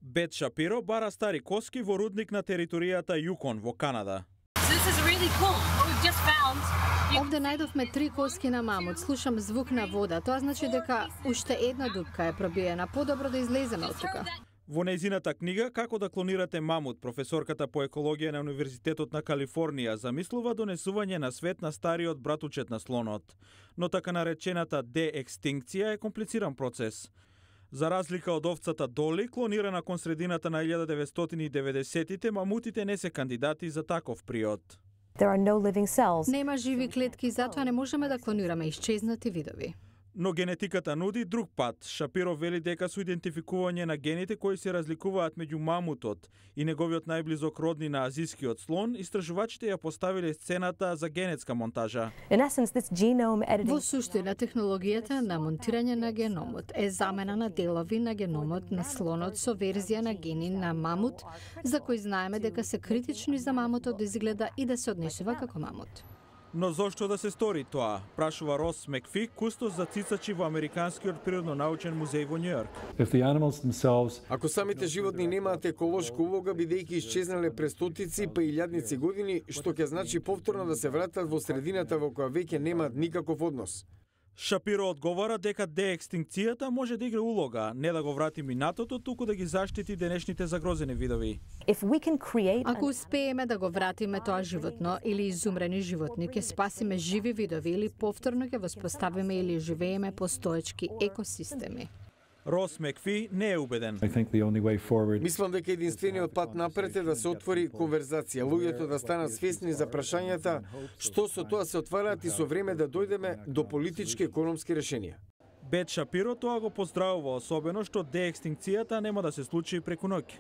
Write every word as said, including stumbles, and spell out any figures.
Бет Шапиро бара стари коски во рудник на територијата Јукон во Канада. Овде најдовме три коски на мамут. Слушам звук на вода. Тоа значи дека уште една дупка е пробиена. Подобро да излеземе од тука. Во нејзината книга Како да клонирате мамут, професорката по екологија на Универзитетот на Калифорнија замислува донесување на свет на стариот братучет на слонот. Но така наречената деекстинкција е комплициран процес. За разлика од овцата Доли, клонирана кон средината на илјада деветстотини и деветдесеттите, мамутите не се кандидати за таков приод. Нема живи клетки, затоа не можеме да клонираме исчезнати видови. Но генетиката нуди друг пат. Шапиро вели дека со идентификување на гените кои се разликуваат меѓу мамутот и неговиот најблизок родни на азискиот слон, истражувачите ја поставиле сцената за генетска монтажа. Во суштина, технологијата на монтирање на геномот е замена на делови на геномот на слонот со верзија на гени на мамут, за кои знаеме дека се критични за мамутот да изгледа и да се однесува како мамут. Но зошто да се стори тоа? Прашува Рос Мекфи, кустос за цицачи во Американскиот природно-научен музеј во Њујорк. Ако самите животни немаат еколошка улога, бидејќи исчезнале пред стотици па илјадници години, што ќе значи повторно да се вратат во средината во која веќе немаат никаков однос. Шапиро одговара дека деекстинкцијата може да игра улога, не да го врати минатото, туку да ги заштити денешните загрозени видови. Ако успееме да го вратиме тоа животно или изумрени животни, ќе спасиме живи видови или повторно ќе воспоставиме или живееме постоечки екосистеми. Рос Мекфи не е убеден. Мислам дека единствениот пат напред е да се отвори конверзација, луѓето да станат свесни за прашањата, што со тоа се отвараат и со време да дојдеме до политички и економски решенија. Бет Шапиро тоа го поздравува, особено што деекстинкцијата нема да се случи преку ноќ.